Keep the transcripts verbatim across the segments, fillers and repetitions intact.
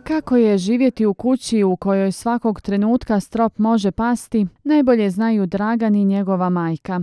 Kako je živjeti u kući u kojoj svakog trenutka strop može pasti, najbolje znaju Dragan i njegova majka.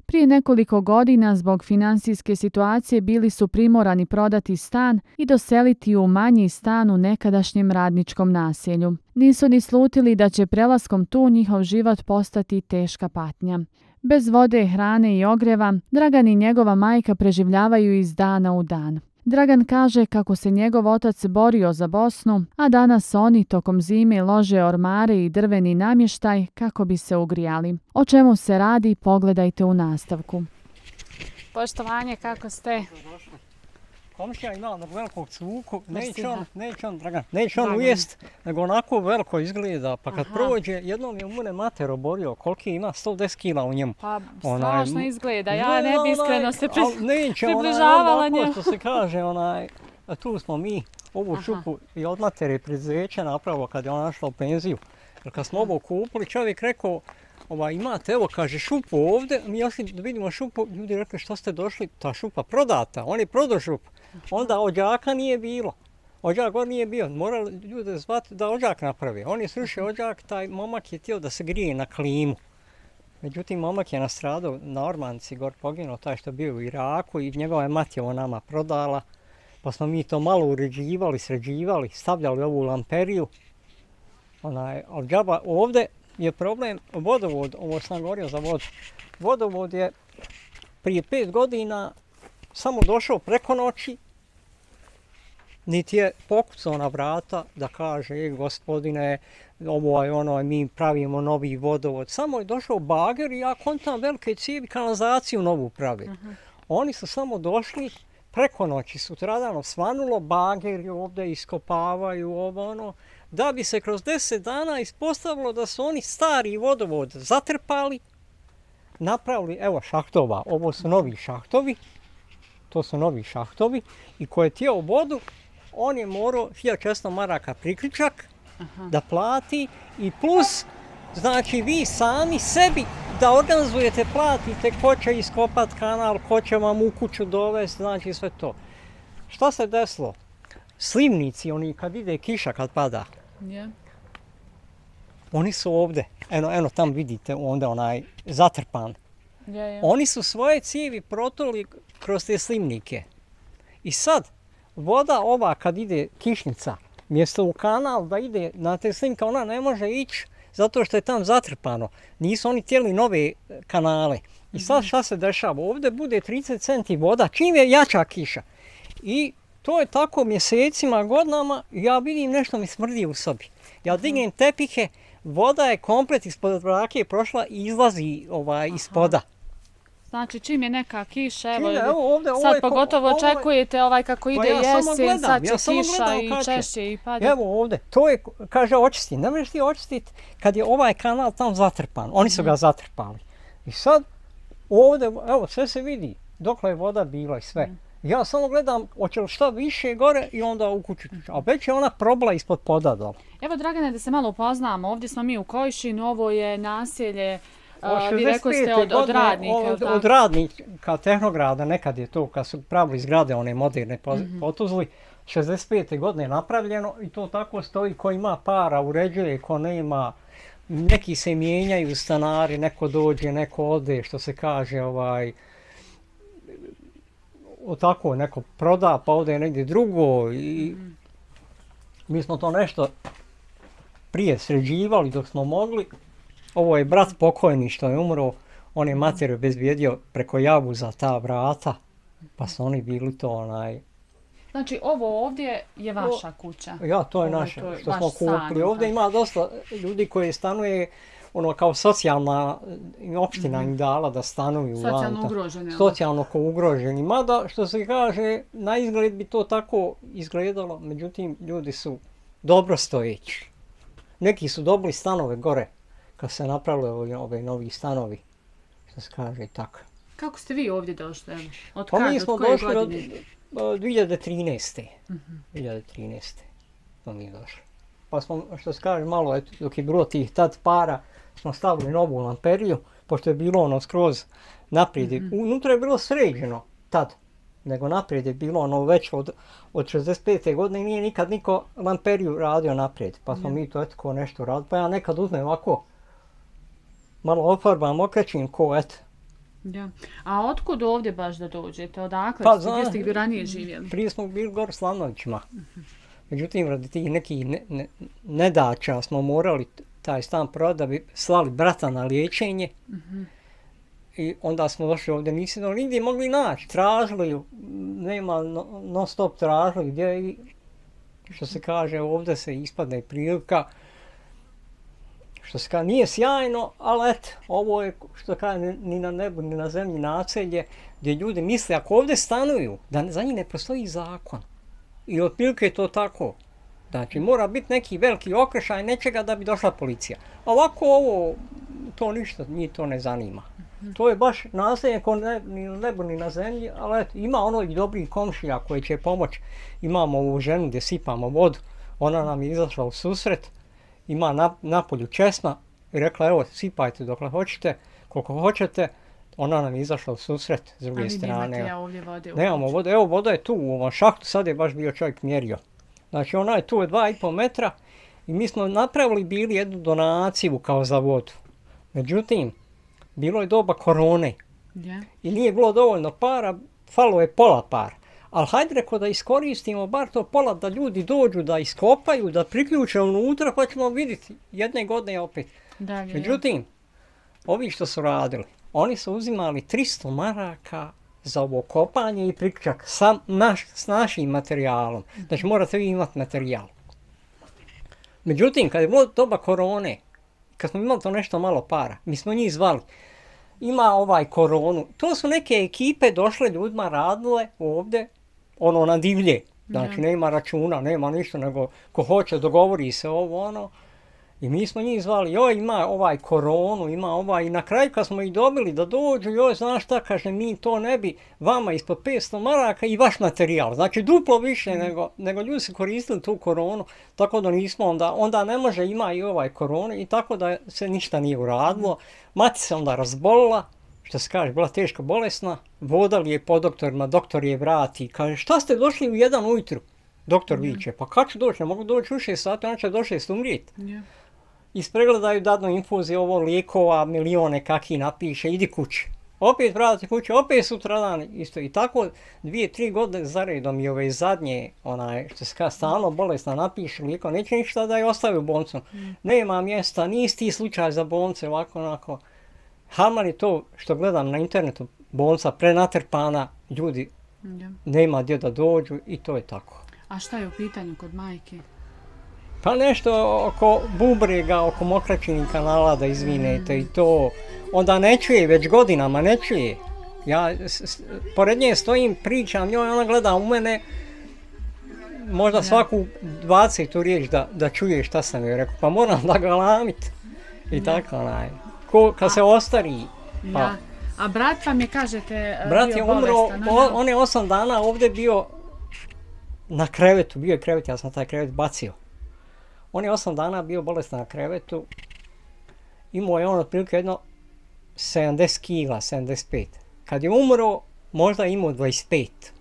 Prije nekoliko godina zbog financijske situacije bili su primorani prodati stan i doseliti u manji stan u nekadašnjem radničkom naselju. Nisu ni slutili da će prelaskom tu njihov život postati teška patnja. Bez vode, hrane i ogreva, Dragan i njegova majka preživljavaju iz dana u dan. Dragan kaže kako se njegov otac borio za Bosnu, a danas oni tokom zime lože ormare i drveni namještaj kako bi se ugrijali. O čemu se radi, pogledajte u nastavku. Poštovanje, kako ste? Komšija ima onog velikog cuku, neće on, neće on, Dragan, neće on ujest, nego onako veliko izgleda, pa kad Aha. prođe, jednom je mune mater oborio, koliki ima, sto deset kila u njemu. Pa strašno onaj, izgleda, ja ne bi iskreno se pri, neće, približavala onaj, njemu. Što se kaže, onaj, tu smo mi ovu Aha. šupu i od matere preduzeća napravo kad je ona našla u penziju. Jer kad smo ovo kupili, čovjek rekao, Ova, imate, evo, kaže, šupu ovdje, mi još da vidimo šupu, ljudi rekli što ste došli, ta šupa prodata, on je prodao šupu. Onda ođaka nije bilo, ođak god nije bio, morali ljude zvati da ođak napravi. On je srušio ođak, taj momak je htio da se grije na klimu. Međutim, momak je nastradao na Ormanci, gor poginuo, taj što bio u Iraku i njegova je mati ovo nama prodala. Pa smo mi to malo uređivali, sređivali, stavljali ovu lamperiju. Onaj, od džaba ovdje je problem vodovod, ovo sam govorio za vodu. Vodovod je prije pet godina samo došao preko noći, niti je pokucao na vrata da kaže, e, gospodine, ovo je ono, mi pravimo novi vodovod. Samo je došao bager i ja kontam velike cijevi, kanalizaciju novu pravi. Uh-huh. Oni su samo došli, preko noći sutradan osvanulo, bageri ovdje iskopavaju ovo ono, da bi se kroz deset dana ispostavilo da su oni stari vodovod zatrpali, napravili, evo šahtova, ovo su novi šahtovi, to su novi šahtovi i ko je htio vodu, on je morao hiljadu četiristo maraka priključak Aha. da plati i plus, znači vi sami sebi da organizujete, platite ko će iskopat kanal, ko će vam u kuću dovesti, znači sve to. Šta se desilo? Slivnici, oni kad ide kiša, kad pada, yeah. oni su ovdje, eno, eno tam vidite onda onaj zatrpan. Yeah, yeah. Oni su svoje cijevi protuli kroz te slivnike. I sad, voda ova kad ide kišnica, mjesto u kanal da ide na te slivnike, ona ne može ići zato što je tam zatrpano. Nisu oni htjeli nove kanale. I sad šta se dešava? Ovdje bude trideset centi voda, čim je jača kiša. I to je tako mjesecima, godinama, ja vidim nešto mi smrdi u sobi. Ja dignem tepihe, voda je komplet ispod vrake prošla i izlazi ovaj, ispoda. Znači čim je neka kiša, evo, Čine, evo ovdje, sad pogotovo ovo, očekujete ovaj kako ide ja jesen, gledam, sad će ja kiša i češće i pada. Evo ovdje, to je, kaže, očistiti. Ne možeš ti očistiti kad je ovaj kanal tam zatrpan. Oni su mm. ga zatrpali. I sad ovdje, evo, sve se vidi, dokle je voda bila i sve. Mm. Ja samo gledam, hoće li šta više gore i onda u kuću. A već je ona probla ispod poda dole. Evo, Dragane, da se malo upoznamo, ovdje smo mi u Kojšinu, ovo je naselje, uh, vi rekao ste od, od radnika. Od, od radnika, Tehnograda, nekad je to, kad su pravili zgrade, one moderne mm-hmm. potuzli, šezdeset pete godine napravljeno i to tako stoji, ko ima para, uređuje, ko nema. Neki se mijenjaju stanari, neko dođe, neko ode, što se kaže, ovaj, o tako neko proda pa ode negdje drugo i mm. mi smo to nešto prije sređivali dok smo mogli. Ovo je brat pokojni što je umro, on je mater obezbijedio preko javu za ta vrata, pa su oni bili to onaj... Znači ovo ovdje je vaša kuća? Ja, to je naše, što smo kupili. Ovdje ima dosta ljudi koji stanuje ono kao socijalna opština mm-hmm. im dala da stanuju. Socijalno ugroženi. Socijalno ugroženi. Mada što se kaže, na izgled bi to tako izgledalo, međutim ljudi su dobro stojeći. Neki su dobili stanove gore, kad se napravili ove, ove novi stanovi, što se kaže i tako. Kako ste vi ovdje došli? Od pa kad, mi smo od koje došli godine? od dvije hiljade trinaeste. Mm-hmm. dvije hiljade trinaeste smo mi došli. Pa smo, što se kaže, malo, eto, dok je bilo tih tad para, smo stavili novu lamperiju, pošto je bilo ono skroz naprijed. Mm-hmm. Unutra je bilo sređeno tad. nego naprijed je bilo ono već od, od šezdeset pete godine nije nikad niko lamperiju radio naprijed. Pa smo mm. mi to eto ko nešto radili. Pa ja nekad uzmem ovako, malo ofarbam, okrećim ko eto. Ja. A otkud ovdje baš da dođete? Odakle? Pa, zna, gdje ste bi ranije živjeli? Prije smo bili gore u Slavnovićima. Uh-huh. Međutim, radi tih nekih ne, ne, nedača smo morali taj stan prodati da bi slali brata na liječenje. Uh-huh. I onda smo došli ovdje, nismo nigdje mogli naći. Tražili, nema non stop tražili gdje i što se kaže ovdje se ispadne prilika. Što se kaže, nije sjajno, ali eto, ovo je, što kaže, ni na nebu, ni na zemlji naselje, gdje ljudi misle, ako ovdje stanuju, da za njih ne postoji zakon. I otprilike je to tako. Znači, mora biti neki veliki okršaj nečega da bi došla policija. A ovako ovo, to ništa, njih to ne zanima. Mm-hmm. To je baš naselje ko ne, ni na nebu, ni na zemlji, ali eto, ima ono i dobrih komšija koji će pomoći. Imamo ovu ženu gdje sipamo vodu, ona nam je izašla u susret. Ima na, napolju česma i rekla evo sipajte dokle hoćete, koliko hoćete, ona nam je izašla u susret s druge strane. Ja ovdje vode nemamo vode, evo voda je tu u ovom šahtu, sad je baš bio čovjek mjerio. Znači ona je tu je dva i pol metra i mi smo napravili bili jednu donaciju kao za vodu. Međutim, bilo je doba korone yeah. i nije bilo dovoljno para, falo je pola para. Ali hajde reko da iskoristimo bar to pola da ljudi dođu, da iskopaju, da priključe unutra pa ćemo vidjeti jedne godine opet. Da, međutim, ovi što su radili, oni su uzimali tristo maraka za ovo kopanje i priključak sa naš, s našim materijalom. Znači morate vi imati materijal. Međutim, kad je bilo doba korone, kad smo imali to nešto malo para, mi smo njih zvali. Ima ovaj koronu. To su neke ekipe došle ljudima radile ovdje, ono na divlje. Znači ja. Nema računa, nema ništa, nego ko hoće dogovori se ovo ono. I mi smo njih zvali, joj ima ovaj koronu, ima ovaj, i na kraju kad smo ih dobili da dođu, joj znaš šta, kaže mi to ne bi, vama ispod petsto maraka i vaš materijal. Znači duplo više mm. nego, nego ljudi su koristili tu koronu, tako da nismo onda, onda ne može ima i ovaj koronu i tako da se ništa nije uradilo. Mati se onda razbolila, što se kaže, bila teško bolesna, vodali je po doktorima, doktor je vrati, kaže šta ste došli u jedan ujutru? Doktor mm. viče, pa kad ću doći, ne mogu doći u šest sati, ona će do šest umrijeti. Yeah. Ispregledaju dadnu infuziju, ovo lijekova, milione kaki napiše, idi kući. Opet vrati kući, opet sutradan isto. I tako dvije, tri godine zaredom i ove zadnje, onaj, što se kaže, stalno bolesna napiše lijekova, neće ništa da je ostavi u bolnicu. Mm. Nema mjesta, nisi ti slučaj za bolnice, ovako, onako. Hamar je to što gledam na internetu, bolnica prenatrpana, ljudi yeah. nema gdje da dođu i to je tako. A šta je u pitanju kod majke? Pa nešto oko bubrega, oko mokraćinih kanala da izvinete mm. i to. Onda ne čuje, već godinama ne čuje. Ja s, s, pored nje stojim, pričam njoj, ona gleda u mene, možda ja. svaku dvadesetu riječ da, da čuje šta sam joj rekao. Pa moram da ga lamit. I ja. tako onaj. Ko, kad A, se ostari. Pa. Ja. A brat vam je, kažete, brat bio je umro, bolestan? O, on je osam dana ovdje bio na krevetu, bio je krevet, ja sam taj krevet bacio. On je osam dana bio bolestan na krevetu, imao je on otprilike jedno sedamdeset kila, sedamdeset pet. Kad je umro, možda imao dvadeset pet.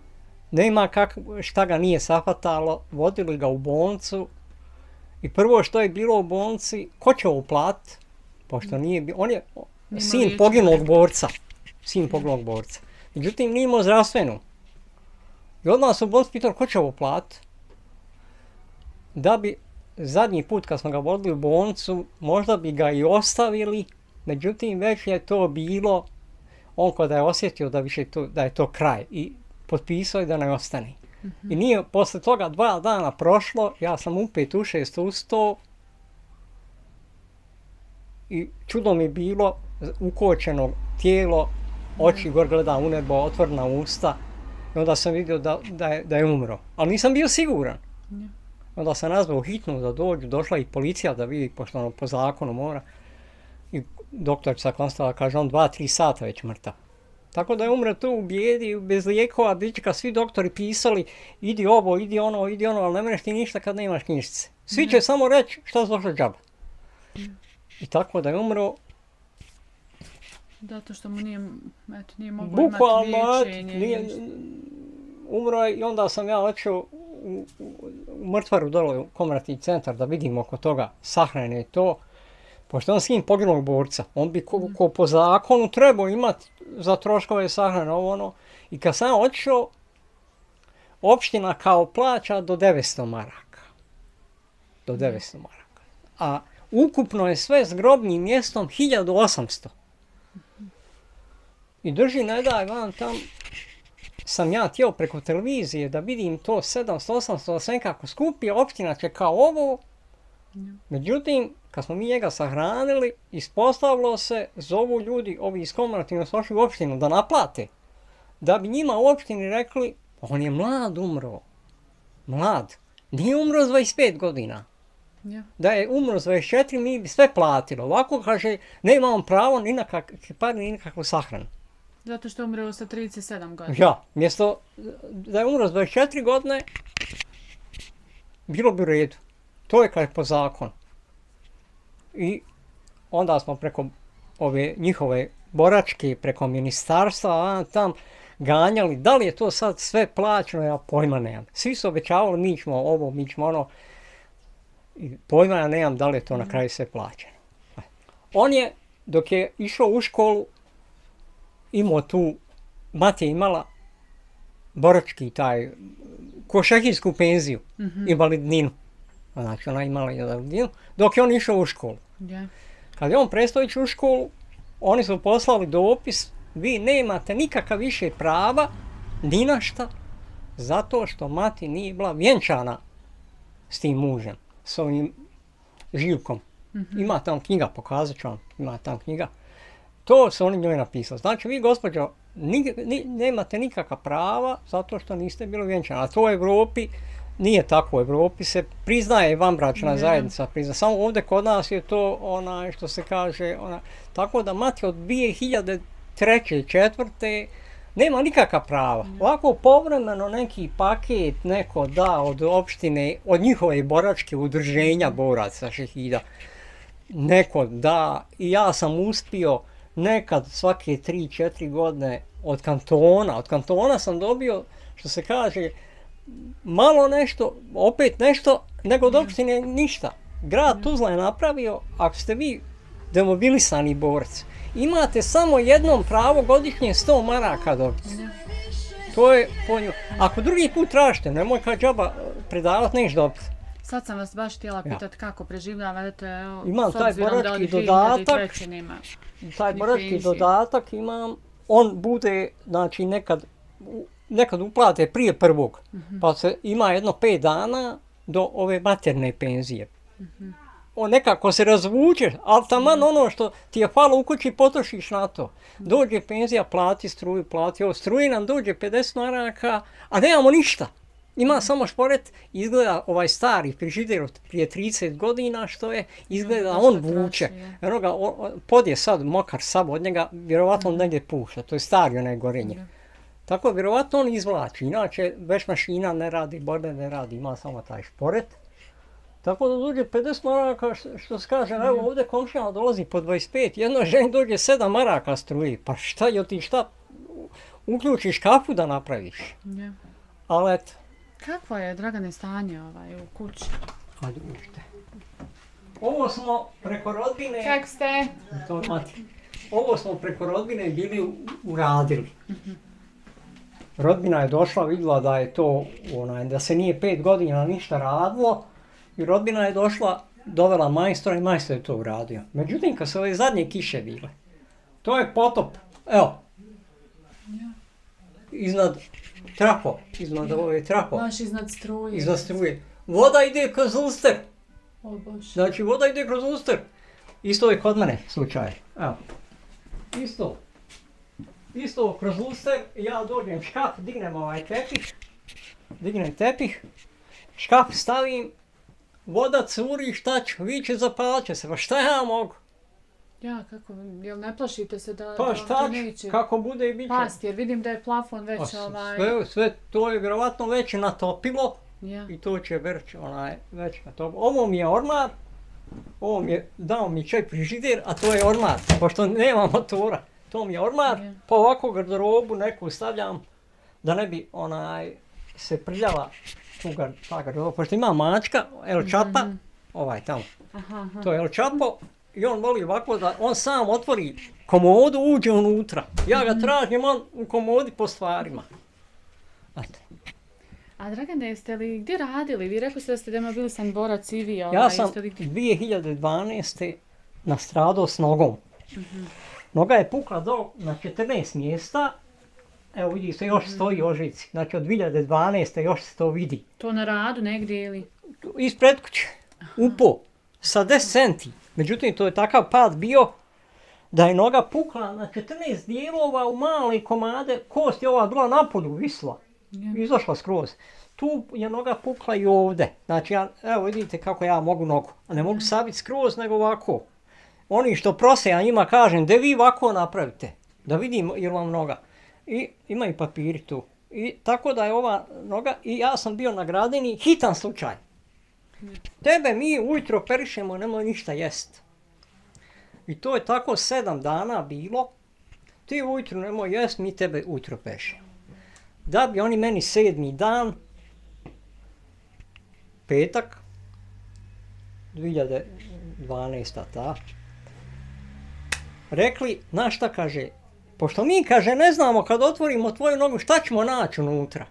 Nema kak, šta ga nije sahvatalo, vodili ga u bolnicu i prvo što je bilo u bolnici, ko će ovo platiti? Pošto nije bio, on je Nima sin poginulog borca, sin poginulog borca. Međutim, nije imao zdravstvenu. I odmah su u bolnici pitali, ko će ovo platiti? Da bi zadnji put kad smo ga vodili u bolnicu, možda bi ga i ostavili, međutim već je to bilo, on kada je osjetio da, više to, da je to kraj i potpisao je da ne ostane. Mm-hmm. I nije, posle toga dva dana prošlo, ja sam upet u šest ustao i čudom je bilo ukočeno tijelo, oči gor gleda u nebo, otvorena usta i onda sam vidio da, da, je, da je umro. Ali nisam bio siguran. Mm. Onda sam nazvao hitnu da dođu, došla i policija da vidi, pošto ono po zakonu mora. I doktorica konstala, kaže on dva, tri sata već mrtav. Tako da je umre tu u bijedi, bez lijekova, bićka, svi doktori pisali, idi ovo, idi ono, idi ono, ali ne mreš ti ništa kad nemaš knjižice. Svi će mm. samo reći šta se došlo džaba. Mm. I tako da je umro. Zato što mu nije, eto, nije moglo imati liječenje. Nije, umro je i onda sam ja otišao u, u, u mrtvaru dole u komemorativni centar da vidim oko toga sahrane i to. Pošto on sin poginulog borca, on bi ko, ko po zakonu trebao imati za troškove sahrane ovo ono. I kad sam otišao, opština kao plaća do devetsto maraka. Do devetsto maraka. A ukupno je sve s grobnim mjestom hiljadu osamsto. I drži, ne daj vam tam, sam ja htio preko televizije da vidim to sedamsto osamsto da se nekako skupi, opština će kao ovo. Međutim, kad smo mi njega sahranili, ispostavilo se, zovu ljudi, ovi iz komemorativno su došli u opštinu da naplate. Da bi njima u opštini rekli, on je mlad umro. Mlad. Nije umro s dvadeset pet godina. Ja. Da je umro s dvadeset četiri, mi bi sve platili. Ovako kaže, ne imamo pravo ni na kakve pare, ni na kakvu sahranu. Zato što je umro sa trideset sedam godina. Ja, mjesto da je umro s dvadeset četiri godine, bilo bi u redu. To je kaj po zakonu. I onda smo preko ove njihove boračke, preko ministarstva, a, tam ganjali. Da li je to sad sve plaćeno, ja pojma nemam. Svi su obećavali, mi ćemo ovo, mi ćemo ono. I pojma ja nemam da li je to na kraju sve plaćeno. On je, dok je išao u školu, imao tu, mati je imala borački taj, košarkašku penziju, mm-hmm. invalidninu. Znači ona imala invalidninu, dok je on išao u školu. Yeah. Kad je on prestao ići u školu, oni su poslali dopis, vi nemate nikakav više prava, ni na šta, zato što mati nije bila vjenčana s tim mužem, s ovim Živkom. Mm-hmm. Ima tam knjiga, pokazat ću vam, ima tam knjiga. To su oni njoj napisali. Znači vi, gospođo, ni, ni, nemate nikakva prava zato što niste bili vjenčani. A to u Europi nije tako. U Europi se priznaje vanbračna mm. zajednica. Prizna. Samo ovdje kod nas je to ona što se kaže. Ona, tako da mati od dvije hiljade treće i četvrte nema nikakva prava. Mm. Ovako povremeno neki paket neko da od opštine, od njihove boračke udruženja boraca šehida. Neko da i ja sam uspio nekad svake tri četiri godine od kantona, od kantona sam dobio, što se kaže, malo nešto, opet nešto, nego od opštine ništa. Grad Tuzla je napravio, ako ste vi demobilisani borac, imate samo jednom pravo godišnje sto maraka dobiti. To je po nju. Ako drugi put tražite, nemoj kad džaba predavati, neš dobiti. Sad sam vas baš htjela pitati ja. Kako preživljavate, imam taj borački dodatak, taj borački dodatak imam, on bude, znači nekad, nekad uplate prije prvog, uh-huh. pa se ima jedno pet dana do ove materne penzije. Uh-huh. On nekako se razvuče, ali taman uh-huh. ono što ti je falo u kući potrošiš na to. Dođe penzija, plati struju, plati ovo, struji nam dođe pedeset maraka, a nemamo ništa. Ima samo šporet, izgleda ovaj stari frižider prije trideset godina što je, izgleda on vuče. Eno ga, pod je sad mokar sav od njega, vjerovatno on negdje pušta, to je stari onaj gorenje. Tako vjerovatno on izvlači, inače već mašina ne radi, borbe ne radi, ima samo taj šporet. Tako da dođe pedeset maraka, što, što se kaže, evo ovdje komšijama dolazi po dvadeset pet, jedno ženi dođe sedam maraka struji, pa šta, jel ti šta, uključiš kafu da napraviš? Ali eto. Kakvo je, Dragane, stanje ovaj, u kući? Hajde, uđite. Ovo smo preko rodbine... Kak ste? To, mati. Ovo smo preko rodbine bili uradili. Uh-huh. Rodbina je došla, vidjela da je to, onaj, da se nije pet godina ništa radilo. I rodbina je došla, dovela majstora i majstor je to uradio. Međutim, kad su ove zadnje kiše bile, to je potop. Evo. Iznad... Trapo, iznad ove trapo. Baš iznad struje. Iznad struje. Voda ide kroz luster. O Bože. Znači voda ide kroz luster. Isto je kod mene slučaj. Evo. Isto. Isto kroz luster. Ja dođem škaf, dignem ovaj tepih. Dignem tepih. Škaf stavim. Voda curi, šta ću? Viće, zapalit će se. Pa šta ja mogu? Ja, kako, jel ne plašite se da, pa, da šta neće kako bude i bit će? Past, jer vidim da je plafon već pa, ovaj... Sve, sve to je vjerovatno već natopilo ja. I to će već, onaj, već natopilo. Ovo mi je ormar, ovo mi je, dao mi čaj frižider, a to je ormar, pošto nema motora. To mi je ormar, ja. Pa ovako garderobu neku stavljam, da ne bi onaj se prljava tuga, ta garderoba, pošto ima mačka, El Čapa, mm-hmm. ovaj tamo, aha, aha. To je El Čapo i on voli ovako da on sam otvori komodu, uđe unutra. Ja ga tražim, on u komodi po stvarima. Ate. A Dragane, jeste li gdje radili? Vi rekli ste da ste demobilisan borac i vi. Ja sam dvije hiljade dvanaeste nastradao s nogom. Uh-huh. Noga je pukla do, na četrnaest mjesta. Evo vidi se, još stoji ožici. Znači od dvije hiljade dvanaeste još se to vidi. To na radu negdje ili? Ispred kuće. Upo. Sa deset centi. Međutim, to je takav pad bio da je noga pukla na četrnaest dijelova u male komade. Kost je ova bila napolju visla. Yeah. Izašla skroz. Tu je noga pukla i ovdje. Znači, ja, evo vidite kako ja mogu nogu. A ne mogu sabiti skroz, nego ovako. Oni što prose, ja njima kažem, da vi ovako napravite. Da vidim jer vam noga. I ima i papiri tu. I tako da je ova noga, i ja sam bio na Gradini, hitan slučaj. Yeah. Tebe mi ujutro operišemo, nemoj ništa jest. I to je tako sedam dana bilo. Ti ujutro nemoj jest, mi tebe ujutro pešemo. Da bi oni meni sedmi dan, petak, dvije hiljade dvanaesta ta, rekli, znaš šta kaže, pošto mi kaže ne znamo kad otvorimo tvoju nogu šta ćemo naći unutra.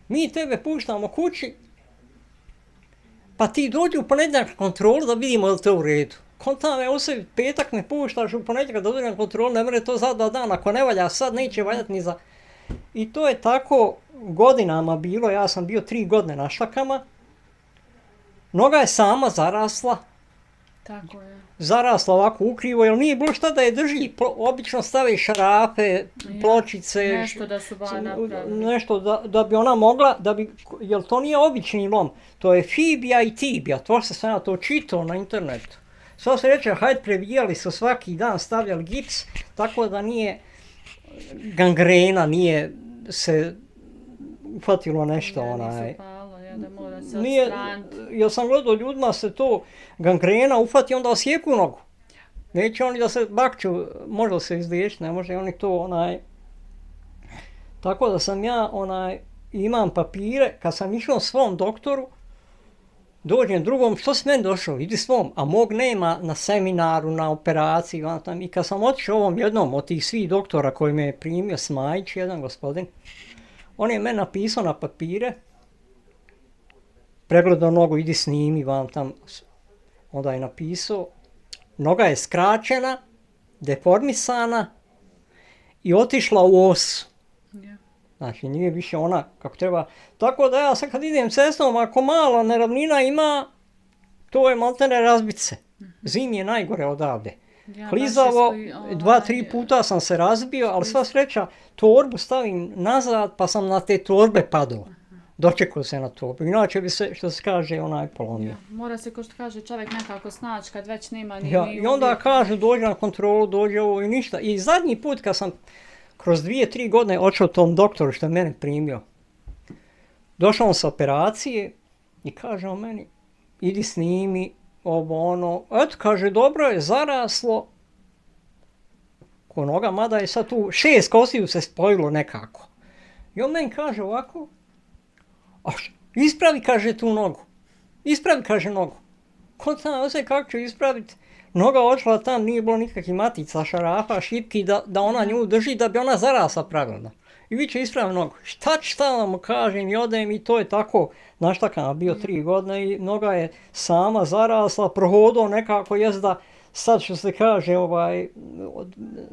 Mi tebe puštamo kući, pa ti dođi u ponedjeljak na kontrolu da vidimo je li to u redu. Konta me u sebi, petak me puštaš u ponedjeljak da dođe na kontrolu, ne mre to za dva dana, ako ne valja sad neće valjati ni za... I to je tako godinama bilo, ja sam bio tri godine na štakama. Noga je sama zarasla. Tako je. Zarasla ovako ukrivo, jer nije bilo šta da je drži. Plo, obično stave šarafe, pločice. Nešto da su ba napravili. Nešto da, da bi ona mogla, da bi, jer to nije obični lom. To je fibija i tibija, to što sam ja to čitao na internetu. Sva se reče, hajde previjali su svaki dan, stavljali gips, tako da nije gangrena, nije se uhvatilo nešto. Ja, onaj. nisu palo, ja, da mora se nije, odstraniti. Ja sam gledao ljudima se to gangrena uhvati, onda osjeku nogu. Neće oni da se bakću, može se izliječiti, ne može oni to onaj... Tako da sam ja onaj, imam papire, kad sam išao svom doktoru, dođem drugom, što si meni došao, idi svom, a mog nema na seminaru, na operaciji, tam. I kad sam otišao ovom jednom od tih svih doktora koji me je primio, Smajić, jedan gospodin, on je meni napisao na papire, pregledao nogu, idi snimi, vam tam, onda je napisao, noga je skraćena, deformisana i otišla u os. Yeah. Znači, nije više ona kako treba. Tako da ja sad kad idem cestom, ako malo neravnina ima, to je maltene razbice. Zim je najgore odavde. Ja, klizavo, dva, tri puta sam se razbio, ali sva sreća, torbu stavim nazad, pa sam na te torbe padao. Dočekao se na torbu. Inače bi se, što se kaže, onaj polomio. Ja, mora se, ko što kaže, čovjek nekako snaći kad već nema ni... Ja, i onda uvijek... kažu, dođe na kontrolu, dođe ovo i ništa. I zadnji put kad sam kroz dvije, tri godine očeo tom doktoru što je mene primio, došao on sa operacije i kaže on meni, idi snimi, ovo ono, eto kaže, dobro je, zaraslo, ko noga, mada je sad tu šest kostiju se spojilo nekako. I on meni kaže ovako, a ispravi, kaže, tu nogu, ispravi, kaže, nogu. Ko znam, osje kako ću ispraviti, noga odšla tam, nije bilo nikakvih matica, šarafa, šipki, da, da ona nju drži, da bi ona zarasla pravilno. I vi će ispraviti nogu. Šta ću šta vam kažem i odem i to je tako, znaš tako, nam bio tri godine i noga je sama zarasla, prohodao nekako jest da sad što se kaže, ovaj,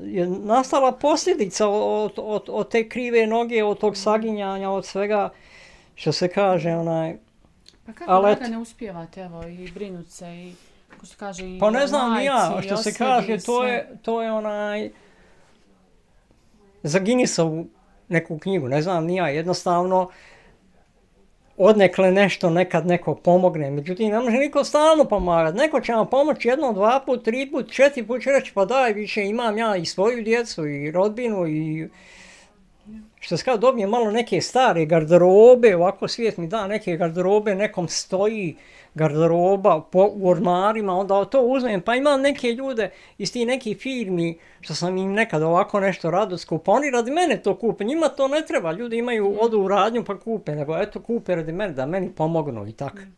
je nastala posljedica od, od, od te krive noge, od tog saginjanja, od svega što se kaže, onaj... Pa kako da ne uspijevate, evo, i brinut se i... Što kaže, i pa ne znam majci, ja, što se kaže, to je, to je onaj... Za Guinnessovu neku knjigu, ne znam ni ja, jednostavno odnekle nešto nekad neko pomogne, međutim ne može niko stalno pomagati, neko će vam pomoći jednom, dva put, tri put, četiri put će reći pa daj više imam ja i svoju djecu i rodbinu i što se kao dobijem malo neke stare garderobe, ovako svijet mi da neke garderobe, nekom stoji garderoba po, u ormarima, onda to uzmem, pa imam neke ljude iz tih nekih firmi, što sam im nekad ovako nešto rado skupa, oni radi mene to kupe, njima to ne treba, ljudi imaju, odu u radnju pa kupe, nego eto kupe radi mene, da meni pomognu i tako. Mm.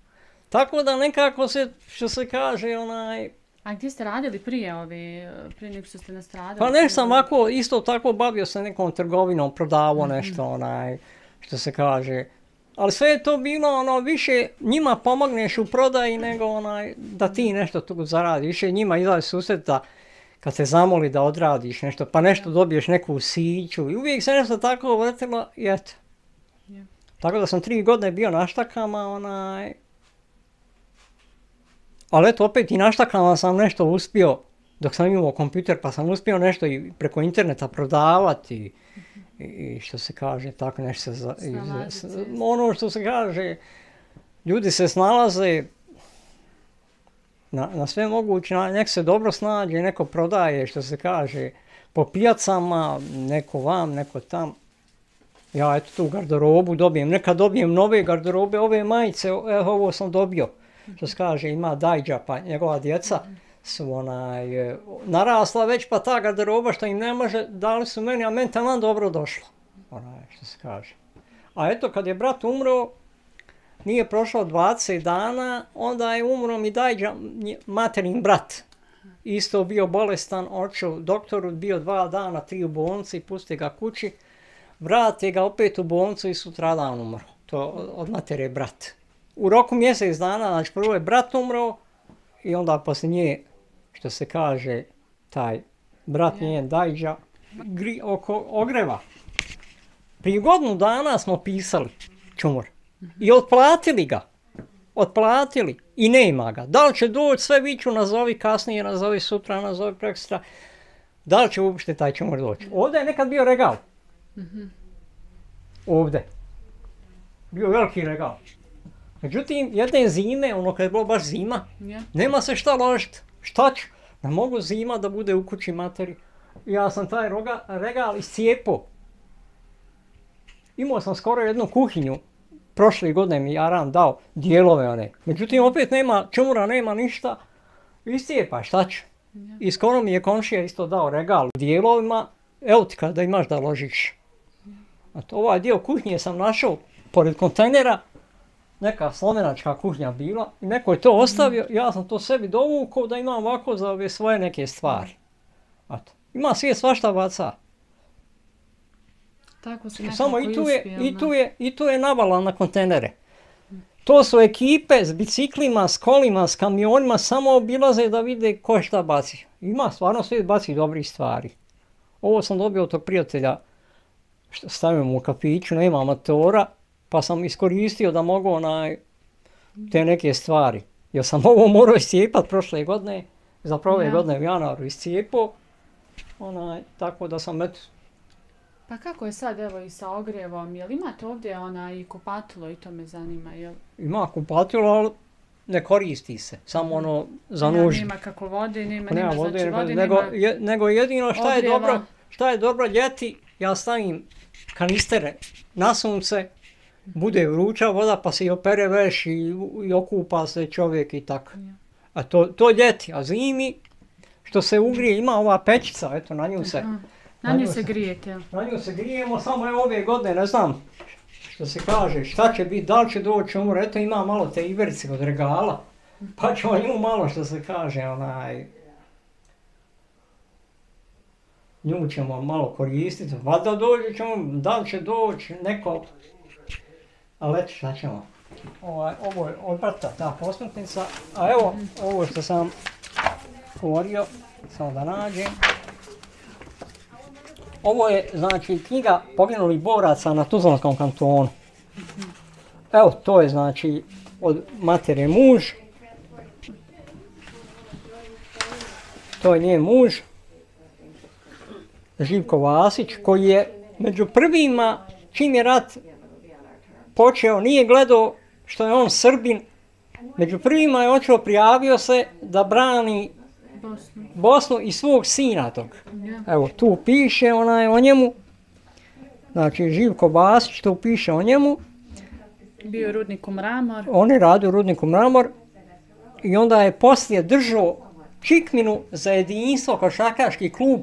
Tako da nekako se, što se kaže, onaj... A gdje ste radili prije ovi, prije nego što ste nastradali? Pa nešto sam ovako, isto tako bavio se nekom trgovinom, prodavao nešto, onaj, što se kaže. Ali sve je to bilo, ono, više njima pomogneš u prodaji nego, onaj, da ti nešto tu zaradiš. Više njima izlazi susret da, kad te zamoli da odradiš nešto, pa nešto dobiješ neku siću. I uvijek se nešto tako vrtilo i eto. Yeah. Tako da sam tri godine bio na štakama, onaj... Ali eto, opet i na štakama sam nešto uspio, dok sam imao kompjuter, pa sam uspio nešto i preko interneta prodavati. I, i što se kaže, tako nešto se... Za, i, ono što se kaže, ljudi se snalaze na, na sve moguće, nek se dobro snađe, neko prodaje, što se kaže, po pijacama, neko vam, neko tam. Ja eto tu garderobu dobijem, nekad dobijem nove garderobe, ove majice, evo ovo sam dobio. Što se kaže, ima Dajđa, pa njegova djeca su onaj, narasla već, pa ta garderoba što im ne može, dali su meni, a meni taman dobro došlo. Onaj, što se kaže. A eto, kad je brat umro, nije prošlo dvadeset dana, onda je umro mi Dajđa, materin brat. Isto bio bolestan, očeo doktoru, bio dva dana, tri u bolnici, pusti ga kući, vrate ga opet u bolnicu i sutradan umro. To od matere brat. U roku mjesec dana, znači prvo je brat umro i onda poslije nje, što se kaže, taj brat njen Dajđa, gri, oko ogreva. Prije godinu dana smo pisali čumur i otplatili ga, otplatili i nema ga. Da li će doći, sve viću, nazovi kasnije, nazovi sutra, nazovi prekstra, da li će uopšte taj čumur doći. Ovdje je nekad bio regal. Ovdje. Bio veliki regal. Međutim, jedne zime, ono kad je bilo baš zima, yeah. nema se šta ložiti. Šta ću? Ne mogu zima da bude u kući materi. Ja sam taj roga, regal iscijepo. Imao sam skoro jednu kuhinju. Prošle godine mi Aran dao dijelove one. Međutim, opet nema čumura, nema ništa. Iscijepa, šta ću? Yeah. I skoro mi je komšija isto dao regal u dijelovima. Evo ti kada imaš da ložiš. Yeah. Ovaj dio kuhinje sam našao pored kontejnera. Neka slovenačka kuhinja bila i neko je to ostavio, ja sam to sebi dovukao da imam ovako za ove svoje neke stvari. Eto. Ima svijet svašta baca. Tako se nekako Samo i tu, je, uspio, i, tu je, i tu je navala na kontejnere. To su ekipe s biciklima, s kolima, s kamionima, samo obilaze da vide ko šta baci. Ima stvarno svijet baci dobrih stvari. Ovo sam dobio od tog prijatelja, stavim u kafiću, nema motora. Pa sam iskoristio da mogu onaj, te neke stvari. Jer sam ovo morao iscijepat prošle godine, zapravo ove ja. godine u januaru iscijepao, onaj, tako da sam eto. Pa kako je sad evo i sa ogrjevom, jel imate ovdje onaj kupatilo i to me zanima, jel? Ima kupatilo, ali ne koristi se, samo ono za nuždu. Nema kako vode, nema, nema, nema vode, znači vode, nego, nema je, nego jedino šta je, dobro, šta je dobro ljeti, ja stavim kanistere na sunce, bude vruća voda pa se i opere veš i, i okupa se čovjek i tako. A to, to ljeti, a zimi što se ugrije, ima ova pećica, eto na nju se... Aha. Na nju se grijete. Na nju se grijemo, samo je ove godine, ne znam što se kaže, šta će biti, da li će doći umor, eto ima malo te iverice od regala, pa ćemo nju malo što se kaže, onaj... Nju ćemo malo koristiti, pa da dođe ćemo, da li će doći neko... Ali eto šta ćemo, ovaj, ovo je od brata ta posmrtnica, a evo ovo što sam govorio, samo da nađem. Ovo je znači knjiga poginulih boraca na Tuzlanskom kantonu. Evo to je znači od matere muž, to je njen muž, Živko Vasić, koji je među prvima čim je rat počeo, nije gledao što je on Srbin, među prvima je očeo, prijavio se da brani Bosnu, Bosnu i svog sina tog. Yeah. Evo, tu piše onaj o njemu. Znači, Živko Basić, to piše o njemu. Bio je u rudniku Mramor. On je radio u rudniku Mramor i onda je poslije držao čikminu za jedinstvo košarkaški klub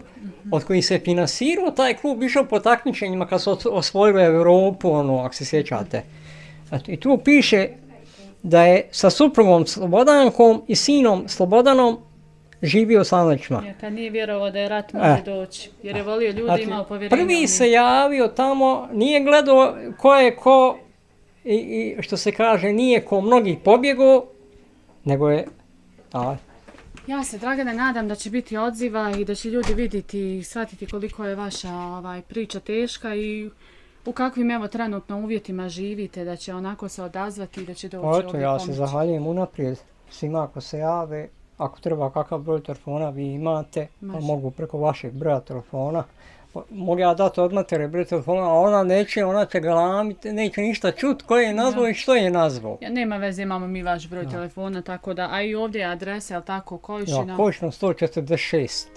od kojih se finansirao. Taj klub išao po takmičenjima kad su osvojili Europu, ono, ako se sjećate. I tu piše da je sa suprugom Slobodankom i sinom Slobodanom živio u Slavničima. Ja, kad nije vjerovao da je rat može e. doći, jer je volio ljudi, znači, imao povjerenja. Prvi se javio tamo, nije gledao ko je ko, i, i što se kaže, nije ko mnogih pobjegao, nego je... A, ja se, Dragane, nadam da će biti odziva i da će ljudi vidjeti i shvatiti koliko je vaša ovaj, priča teška i u kakvim evo trenutno uvjetima živite, da će onako se odazvati i da će doći ovdje pomoći. Ja se zahvaljujem unaprijed svima ako se jave. Ako treba kakav broj telefona vi imate, pa mogu preko vašeg broja telefona. Mogu ja dati od matere broj telefona, a ona neće, ona će galamiti, neće ništa čuti ko je nazvao ja. I što je nazvao. Ja, nema veze, imamo mi vaš broj ja. telefona, tako da, a i ovdje je adresa, jel tako, Kojišina? Ja, Kojišina sto četrdeset šest.